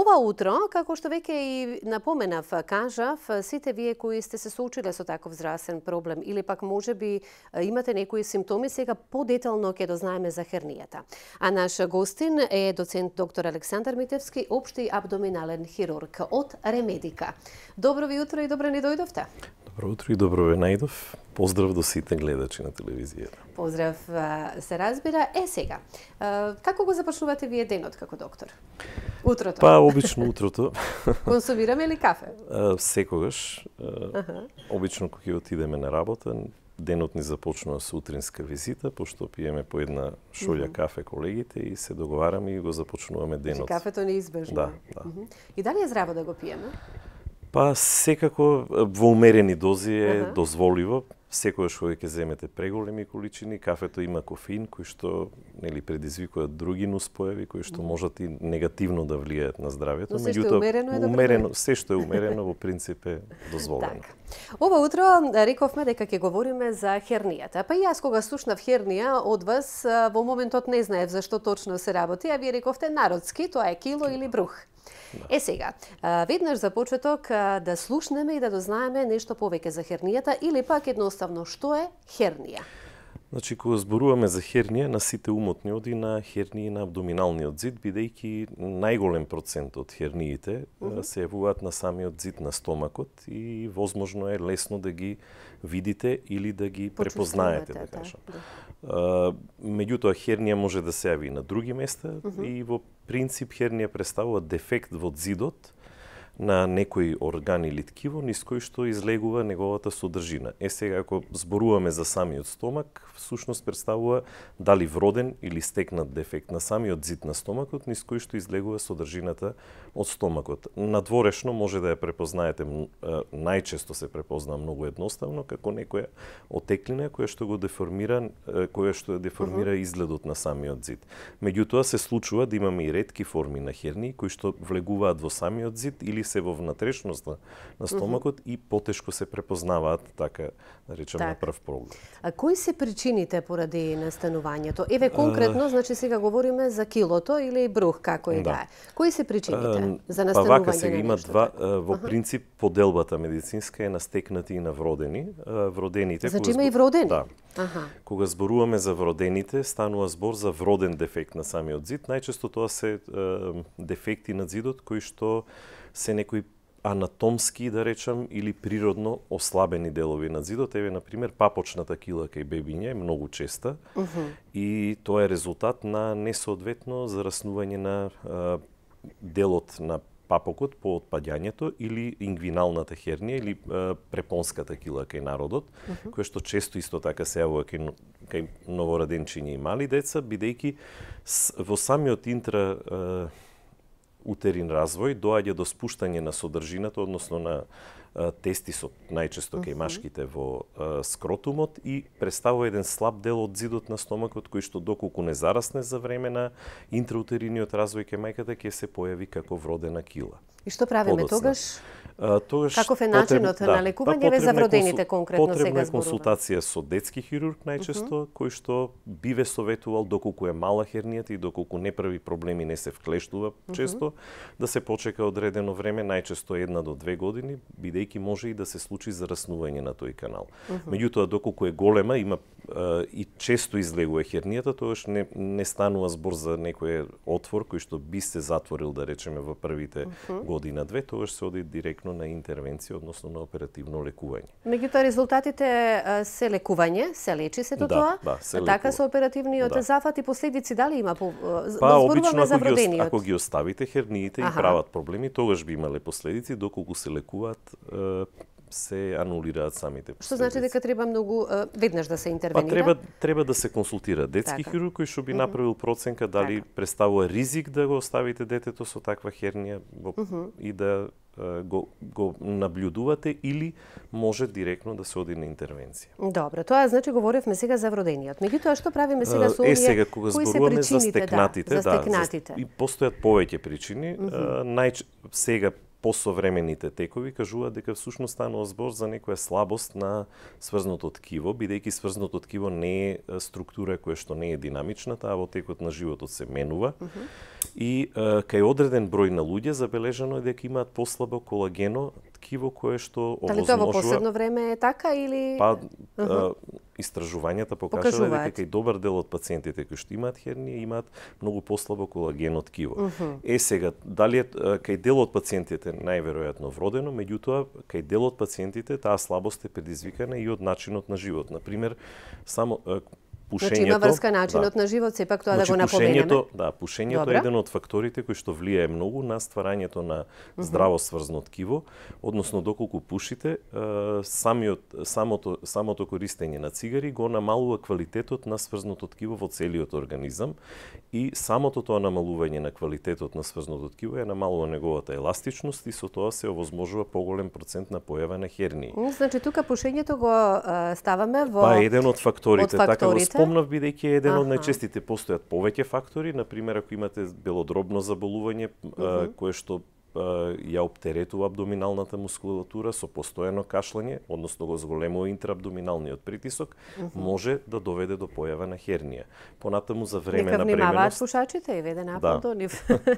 Ова утро, како што веќе и напоменав, кажав, сите вие кои сте се соочиле со таков здравствен проблем или пак можеби имате некои симптоми, сега подетално ќе дознаеме за хернијата. А наш гостин е доцент доктор Александар Митевски, општи абдоминален хирург од Ремедика. Добро ви утро и добро ни дојдовте. Добро утро и добро ве најдов. Поздрав до сите гледачи на телевизијата. Поздрав, се разбира. Сега, како го започнувате вие денот како доктор? Утрото? Па, обично утрото. Консумираме ли кафе? Секогаш. Обично кога ќе отидеме на работа, денот ни започнува со утринска визита, пошто пиеме по една шолја кафе колегите и се договараме и го започнуваме денот. Кафето неизбежно. Да. И дали е здраво да го пиеме? Па, секако во умерени дози е дозволиво. Секогаш кога ќе земете преголеми количини, кафето има кофеин кој што предизвикува други нуспојави кои што можат и негативно да влијаат на здравјето. Но се што е умерено е умерено, се што е умерено во принцип е дозволено. Ова утро рековме дека ќе говориме за хернијата. Па и јас кога слушнав хернија од вас, во моментот не знаев зашто точно се работи, а вие рековте народски, тоа е кило или брух. Сега, веднаш за почеток да слушнеме и да дознаеме нешто повеќе за хернијата или пак едноставно што е хернија. Значи, кога зборуваме за хернија, на сите умот ни оди на хернии на абдоминалниот зид, бидејќи најголем процент од херниите се јавуваат на самиот зид на стомакот и возможно е лесно да ги видите или да ги препознаете, да кажам. Меѓутоа, хернија може да се јави на други места и во принцип хернија представува дефект во зидот на некој орган или ткиво, низ кој што излегува неговата содржина. Сега, ако зборуваме за самиот стомак, всушност представува дали вроден или стекнат дефект на самиот зид на стомакот, низ кој што излегува содржината од стомакот. Надворешно може да ја препознаете, најчесто се препознава многу едноставно, како некоја отеклина која што го деформира, изгледот на самиот зид. Меѓутоа се случува да имаме и ретки форми на хернии кои што влегуваат во самиот зид или се во внатрешноста на стомакот и потешко се препознаваат, така да речем, на прв поглед. А кои се причините поради настанувањето? Еве конкретно, значи сега говориме за килото или брух, како и да е. Кои се причините за настанување? Па вака сега има два, во принцип поделбата медицинска е на стекнати и на вродени. Вродените... Значи има и вродени? Да. Кога зборуваме за вродените, станува збор за вроден дефект на самиот зид. Најчесто тоа се дефекти на зидот кои што се некои анатомски, да речам, или природно ослабени делови на зидот. Еве, например, папочната кила кај бебиња е многу честа и тоа е резултат на несоодветно зараснување на делот на папокот по отпаѓањето или ингвиналната хернија или препонската кила кај народот, која што често исто така се јавува кај новороденчиња и мали деца, бидејќи во самиот утерин развој доаѓа до спуштање на содржината, односно на тестисот, најчесто кај машките во скротумот и представува еден слаб дел од зидот на стомакот кој што доколку не зарасне за време на интраутериниот развој кај мајката ќе се појави како вродена кила. И што правиме тогаш? Каков е начинот на лекување за вродените конкретно сега зборуваме? Потребна е консултација со детски хирург најчесто, кој што би ве советувал доколку е мала хернијата и доколку не прави проблеми, не се вклештува често, да се почека одредено време, најчесто 1 до 2 години, бидејќи може и да се случи зараснување на тој канал. Меѓутоа, доколку е голема, има и често излегува хернијата, тогаш не станува збор за некој отвор кој што би се затворил, да речеме, во првите година-две, тогаш се оди директно на интервенција, односно на оперативно лекување. Меѓутоа, резултатите се лекување, се лечи се до тоа? Да, се така со оперативниот зафат и последици дали има? Па, обично ако ги оставите херниите и прават проблеми, тогаш би имале последици, доколку се лекуваат се анулираат самите последици. Што значи дека треба многу веднаш да се интервенира? Па треба да се консултира детски хирург кој што би направил проценка дали представува ризик да го оставите детето со таква хернија и да го наблюдувате или може директно да се оди на интервенција. Добро, тоа значи говоревме сега за вродениот. Меѓутоа што правиме сега со овие? Сега кога зборуваме за стекнатите, и постојат повеќе причини. Сега посовремените текови кажуваат дека всушност станува збор за некоја слабост на сврзното ткиво, бидејќи сврзното ткиво не е структура која што не е динамична, таа во текот на животот се менува. И кај одреден број на луѓе забележано е дека имаат послабо колагено ткиво кое што овозможува. Дали тоа во последно време е така или Истражувањата покажуваат дека кај добар дел од пациентите кои што имаат хернија имаат многу послабо колагено ткиво. Сега, дали кај дел од пациентите најверојатно вродено, меѓутоа кај дел од пациентите таа слабост е предизвикана и од начинот на живот. Например, само пушењето. Значи има врска начинот на живот, сепак тоа да го напоменеме. Пушењето е еден од факторите кои што влијае многу на стварањето на здраво сврзно ткиво, односно доколку пушите, самото користење на цигари го намалува квалитетот на сврзното ткиво во целиот организам и самото тоа намалување на квалитетот на сврзното ткиво е намалува неговата еластичност и со тоа се овозможува поголем процент на појава на хернии. Значи тука пушењето го ставаме во еден од факторите. Така го спомнав бидејќи еден од најчестите постојат повеќе фактори, например ако имате белодробно заболување кое што ја оптеретува абдоминалната мускулатура со постојано кашлање, односно го зголемува интраабдоминалниот притисок, може да доведе до појава на хернија. Понатаму за време на бременост. Нека внимаваат пушачите и веде напад до нив.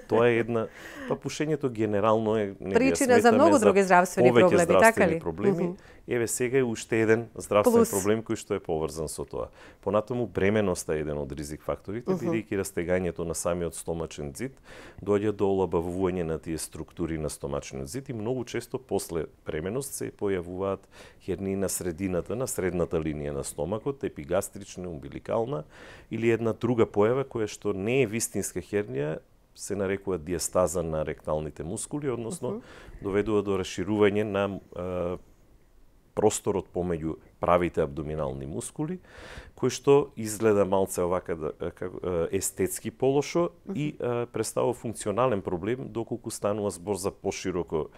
Тоа е една, пушењето генерално е причина за многу други здравствени проблеми, така ли? Проблеми. Еве сега е уште еден здравствен проблем кој што е поврзан со тоа. Понатаму бременоста е еден од ризик факторите, бидејќи растегањето на самиот стомачен ѕид доаѓа до олабавување на тие структури на стомачниот ѕид и многу често после бременост се појавуваат хернии на средината, на средната линија на стомакот, епигастрична, умбиликална или една друга појава која што не е вистинска хернија, се нарекува диастаза на ректалните мускули, односно доведува до расширување на просторот помеѓу правите абдоминални мускули, кој што изгледа малце овака естетски полошо и представува функционален проблем доколку станува збор за пошироко,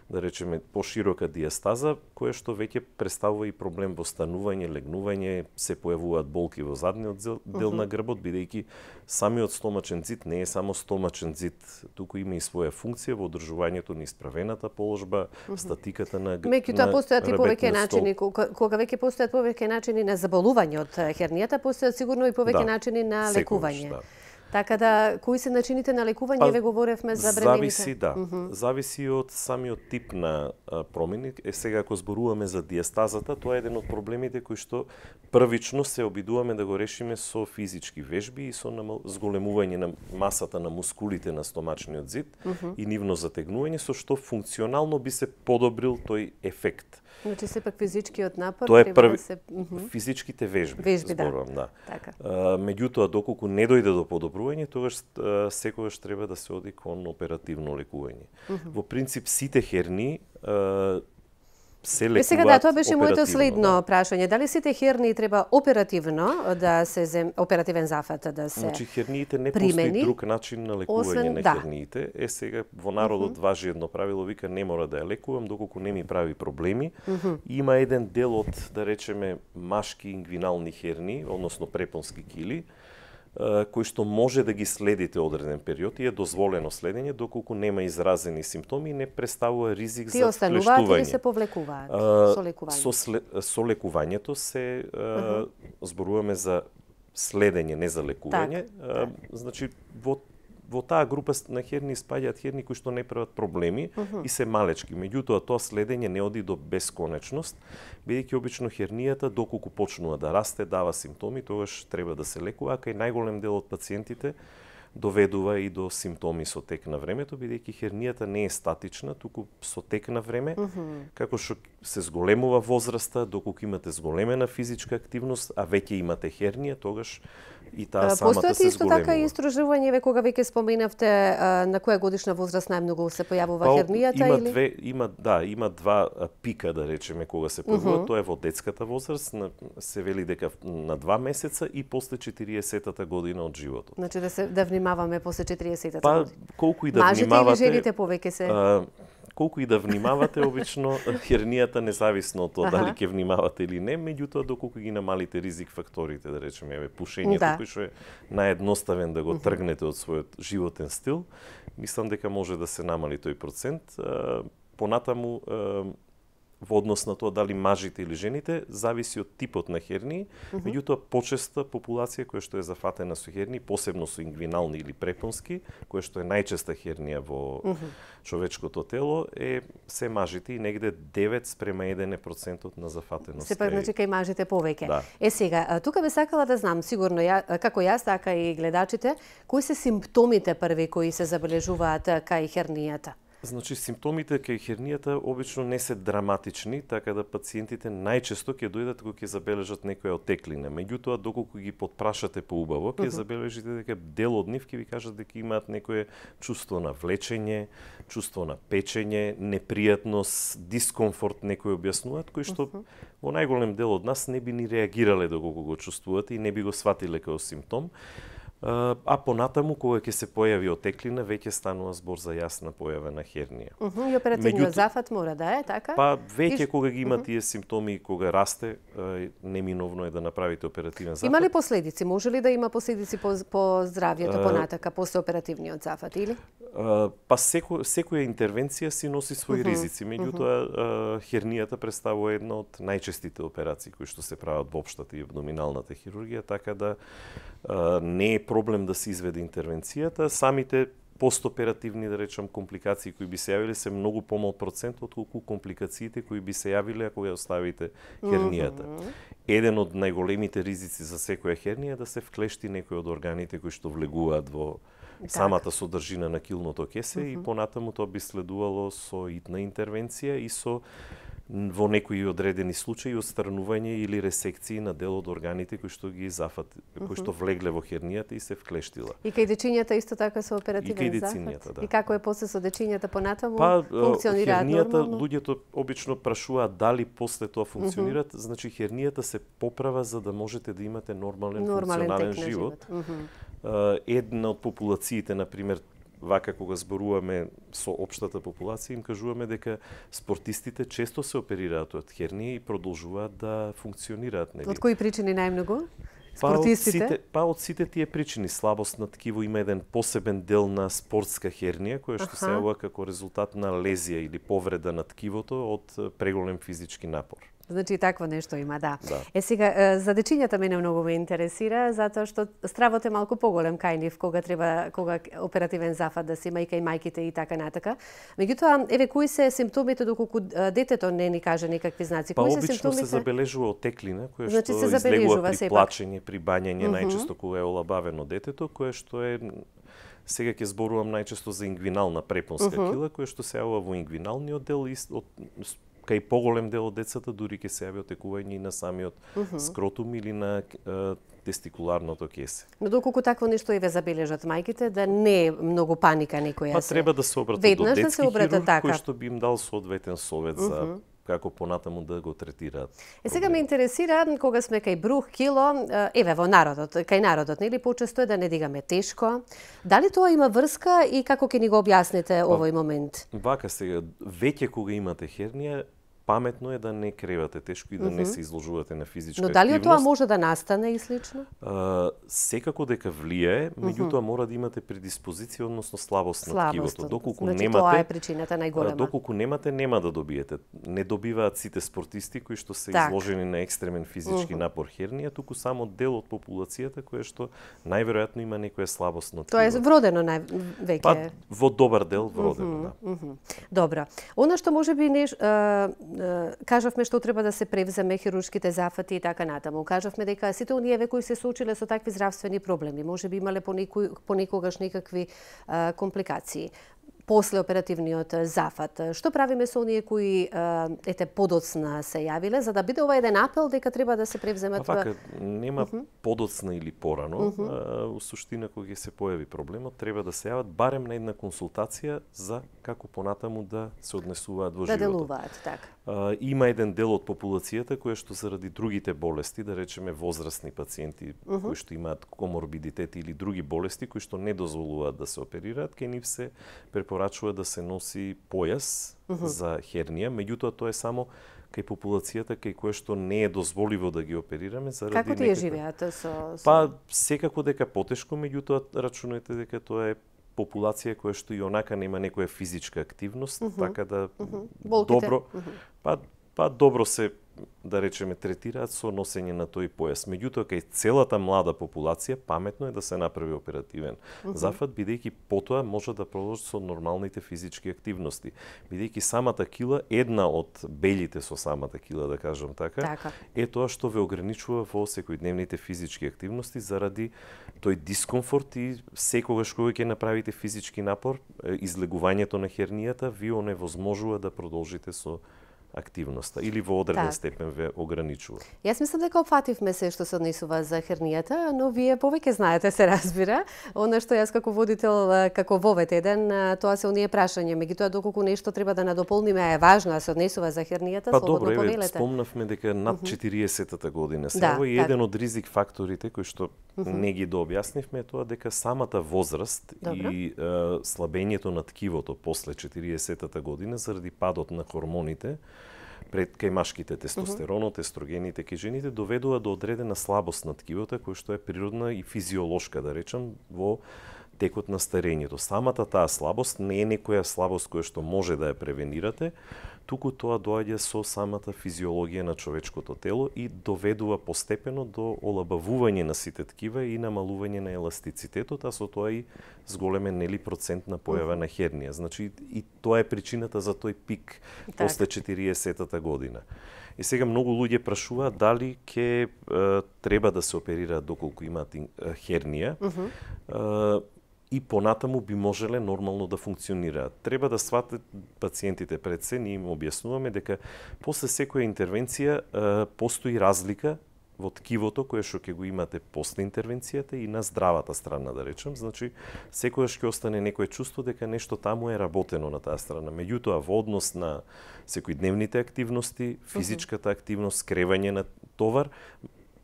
да речеме, поширока диастаза, која што веќе представува и проблем во станување, легнување, се појавуваат болки во задниот дел на грбот, бидејќи самиот стомачен ѕид не е само стомачен ѕид, туку има и своја функција во одржувањето на исправената положба, статиката на Меѓутоа постојат и повеќе начини, кога веќе постојат повеќе начини на заболување од хернијата, постојат сигурно и повеќе начини на лекување. Така да, кои се начините на лекување, ве говоревме за бремените? Зависи од самиот тип на промени. Сега ако зборуваме за диастазата, тоа е еден од проблемите кои што првично се обидуваме да го решиме со физички вежби и со зголемување на масата на мускулите на стомачниот ѕид и нивно затегнување, со што функционално би се подобрил тој ефект. Значи сепак физичкиот напор тоа е први, физичките вежби зборувам, да. Така. Меѓутоа доколку не дојде до подобрување, тогаш секогаш треба да се оди кон оперативно лекување. Во принцип сите хернии се лекуваат. Сега тоа беше моето следно прашање. Дали сите хернии треба оперативно да се оперативен зафат да се Значи херниите не постои друг начин на лекување на херниите. Сега во народот важи едно правило, вика не мора да ја лекувам доколку не ми прави проблеми. Има еден дел од, да речеме, машки ингвинални хернии, односно препонски кили, кои што може да ги следите одреден период и е дозволено следење доколку нема изразени симптоми и не представува ризик за флештување. Тие остануваат или се повлекуваат со лекување? Со лекувањето се зборуваме за следење, не за лекување. Значи во таа група на хернии спаѓаат хернии кои што не прават проблеми и се малечки. Меѓутоа тоа следење не оди до бесконечност, бидејќи обично хернијата доколку почнува да расте, дава симптоми, тогаш треба да се лекува, а кај најголем дел од пациентите доведува и до симптоми со тек на времето, бидејќи хернијата не е статична, туку со тек на време, како што се зголемува возраста, доколку имате зголемена физичка активност, а веќе имате хернија, тогаш и таа самата се зголемува. Постојат исто така и истражување, кога веќе споменавте на која годишна возраст најмногу се појавува хернијата или? Има два пика, да речеме, кога се појавува. Тоа е во детската возраст, се вели дека на 2 месеца и после 40-та година од животот. Значи да внимаваме после 40-та година. Колку и да внимавате. Мажите или жените повеќе се? колку и да внимавате, обично хернијата независно од тоа дали ќе внимавате или не, меѓутоа доколку ги намалите ризик факторите, да речеме, пушењето, кој што е наједноставен да го тргнете од својот животен стил, мислам дека може да се намали тој процент. Понатаму, во однос на тоа дали мажите или жените, зависи од типот на хернии, меѓутоа почеста популација која што е зафатена со хернии, посебно со ингвинални или препонски, која што е најчеста хернија во човечкото тело, се мажите и негде 9:1% на зафатеност. Сепак, значи, кај мажите повеќе. Да. Сега, тука би сакала да знам, сигурно како јас, така и гледачите, кои се симптомите први кои се забележуваат кај хернијата? Значи, симптомите кај хернијата обично не се драматични, така да пациентите најчесто ќе дојдат кога ќе забележат некоја отеклина. Меѓутоа, доколку ги потпрашате поубаво, ќе забележите дека дел од нив ќе ви кажат дека имаат некое чувство на влечење, чувство на печење, непријатност, дискомфорт, некои објаснуваат, кои што во најголем дел од нас не би ни реагирале доколку го чувствувате и не би го сватиле како симптом. А понатаму, кога ќе се појави отеклина, веќе станува збор за јасна појава на хернија. И оперативниот зафат мора да е, така? Па веќе кога ги има тие симптоми и кога расте, неминовно е да направите оперативен зафат. Има ли последици? Може ли да има последици по здравјето понатака после оперативниот зафат или? Па секоја интервенција си носи своји ризици, меѓутоа хернијата представува една од најчестите операции кои што се прават во општата и абдоминалната хирургија, така да не е проблем да се изведе интервенцијата. Самите постоперативни, да речам, компликации кои би се јавиле се многу помал процент отколку компликациите кои би се јавиле ако ја оставите хернијата. Еден од најголемите ризици за секоја хернија е да се вклешти некој од органите кои што влегуваат во самата содржина на килното кесе и понатаму тоа би следувало со итна интервенција и со во некои одредени случаи отстранување или ресекции на дел од органите кои што ги кои што влегле во хернијата и се вклештила. И кај дечињата исто така со оперативен зафат? Да. И како е после со дечињата понатаму? Функционираат нормално? Хернијата, луѓето обично прашуваат дали после тоа функционираат, значи хернијата се поправа за да можете да имате нормален функционален живот. Една од популациите, например, вака кога зборуваме со општата популација, им кажуваме дека спортистите често се оперираат од хернија и продолжуваат да функционираат. Нели? Од кои причини најмногу? Спортистите? Од сите тие причини. Слабост на ткиво, има еден посебен дел на спортска хернија, која што се јавува како резултат на лезија или повреда на ткивото од преголем физички напор. Значи такво нешто има, да. Сега за дечињата мене многу ме интересира затоа што стравот е малку поголем кај нив кога оперативен зафат да се има и кај мајките и така натака. Меѓутоа, еве кои се симптомите доколку детето не ни каже никакви знаци? Кои се обично симптомите? се забележува отеклина, која значи, што излегува при плачење, при бањење, најчесто кога е олабавено детето, кое што е сега ќе зборувам најчесто за ингвинална препонска кила, која што се јавува во ингвиналниот дел и кај поголем дел од децата дури ќе се јави отекување и на самиот скротум или на тестикуларното кесе. Но доколку такво нешто еве забележат мајките, да не е многу паника некоја се. Па треба да се обратат до детски хирург, така. Кој што би им дал соодветен совет за како понатаму да го третираат. Сега ме интересира кога сме кај брух, кило, еве во народот, кај народот, нели почесто е да не дигаме тешко. Дали тоа има врска и како ќе ни го објасните овој момент? Вака сега, веќе кога имате хернија, паметно е да не кревате тешко и да не се изложувате на физичка активност. Но дали тоа може да настане и слично? Секако дека влијае, меѓутоа мора да имате предиспозиција, односно слабост на ткивото. Доколку значи, немате, тоа е причината најголема. Доколку немате, нема да добиете. Не добиваат сите спортисти кои што се изложени на екстремен физички напор хернија, туку само дел од популацијата која што најверојатно има некоја слабост на ткивото. Тоа е вродено веќе. Па во добар дел вродено, да. Добро. Она што можеби кажавме што треба да се превземе хируршките зафати и така натаму. Кажавме дека сите оние кои се соочиле со такви здравствени проблеми, можеби имале понекогаш некакви компликации после оперативниот зафат. Што правиме со оние кои подоцна се јавиле, за да биде ова еден апел дека треба да се превземат? Вака, нема подоцна или порано. У суштина, кога се појави проблемот, треба да се јават барем на една консултација за како понатаму да се однесуваат во да животот. делуваат, така. Има еден дел од популацијата која што заради другите болести, да речеме возрастни пациенти кои што имаат коморбидитет или други болести кои што не дозволуваат да се оперираат, ке нив се препорачува да се носи појас за хернија, меѓутоа тоа е само кај популацијата кај која што не е дозволиво да ги оперираме заради Како тие живеат Па секако дека потешко, меѓутоа рачунајте дека тоа е популација која што и онака нема некоја физичка активност, така да добро па добро се, да речеме, третираат со носење на тој појас. Меѓутоа, кај целата млада популација, паметно е да се направи оперативен зафат, бидејќи потоа може да продолжи со нормалните физички активности. Бидејќи самата кила, една од белите со самата кила, да кажам така, е тоа што ве ограничува во секојдневните физички активности заради тој дискомфорт и секогаш кога ќе направите физички напор, излегувањето на хернијата ви оневозможува да продолжите со активноста или во одреден степен ве ограничува. Јас мислам дека опфативме се што се однесува за хернијата, но вие повеќе знаете, се разбира. Она што јас како водител, како вовет еден, тоа се оние прашања, меѓутоа доколку нешто треба да надополниме е важно, а се однесува за хернијата, слободно повелете. Па добро, спомнавме дека над 40-та година сега и еден од ризик факторите кои што не ги дообјаснивме е тоа дека самата возраст и слабењето на ткивото после 40-та година заради падот на хормоните пред кај машките тестостеронот, естрогените кај жените доведува до одредена слабост на ткивото која што е природна и физиолошка, да речам, во текот на старењето. Самата таа слабост не е некоја слабост која што може да ја превенирате, туку тоа доаѓа со самата физиологија на човечкото тело и доведува постепено до олабавување на сите ткива и намалување на еластицитетот, а со тоа и зголемен процентна појава на хернија. Значи и тоа е причината за тој пик после 40-та година. И сега многу луѓе прашуваат дали ќе треба да се оперираат доколку имаат хернија. И понатаму би можеле нормално да функционираат. Треба да сватат пациентите пред се, ние им објаснуваме дека после секоја интервенција постои разлика во ткивото кое што ќе го имате после интервенцијата и на здравата страна, да речем. Значи, секогаш ќе остане некое чувство дека нешто таму е работено на таа страна. Меѓутоа, во однос на секојдневните активности, физичката активност, скревање на товар,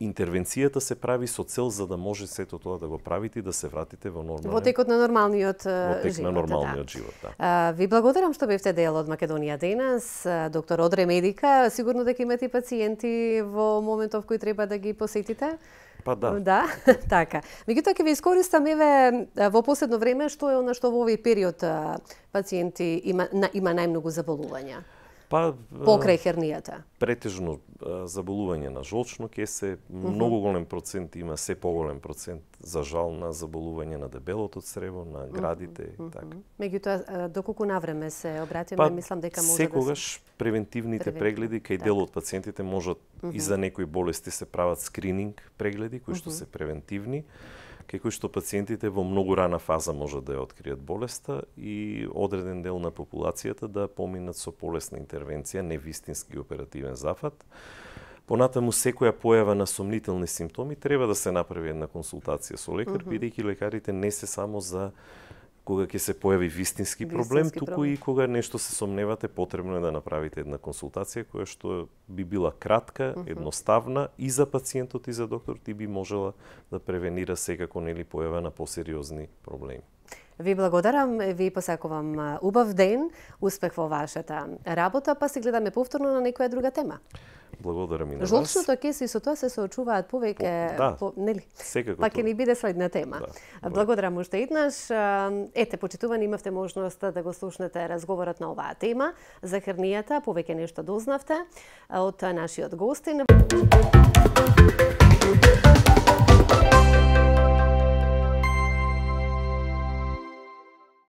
интервенцијата се прави со цел за да може сето тоа да го правите и да се вратите во нормален... Во текот на нормалниот живот. Во тек на нормалниот живот, да. Ви благодарам што бевте дел од Македонија денес. Доктор Одре Медика, сигурно дека имате пациенти во моментов кој треба да ги посетите? Па да. Да, така. Меѓутоа ќе ви искористам во последно време што е она што во овој период пациенти има најмногу заболувања. Покрај хернијата. Претежно заболување на жолчно кесе, многу голем процент има, се поголем процент за жал на заболување на дебелото црево, на градите и така. Меѓутоа доколку навреме се обратиме, мислам дека може секогаш превентивните прегледи кај дел од пациентите можат и за некои болести се прават скрининг прегледи кои што се превентивни, кај кои што пациентите во многу рана фаза можат да ја откријат болеста и одреден дел на популацијата да поминат со полесна интервенција, не вистински оперативен зафат. Понатаму секоја појава на сомнителни симптоми треба да се направи една консултација со лекар, бидејќи лекарите не се само за кога ќе се појави вистински проблем, туку и кога нешто се сомневате, потребно е да направите една консултација која што би била кратка, едноставна и за пациентот и за докторот и би можела да превенира секако нели појава на посериозни проблеми. Ви благодарам, ви посакувам убав ден, успех во вашата работа, па се гледаме повторно на некоја друга тема. Благодарам и на вас. Жолчното кесе и со тоа се соочуваат повеќе, нели? Секако. Па ќе ни биде следна тема. Да. Благодарам уште еднаш. Ете, почитувани, имавте можност да го слушнете разговорот на оваа тема за хернијата, повеќе нешто дознавте од нашиот гостин.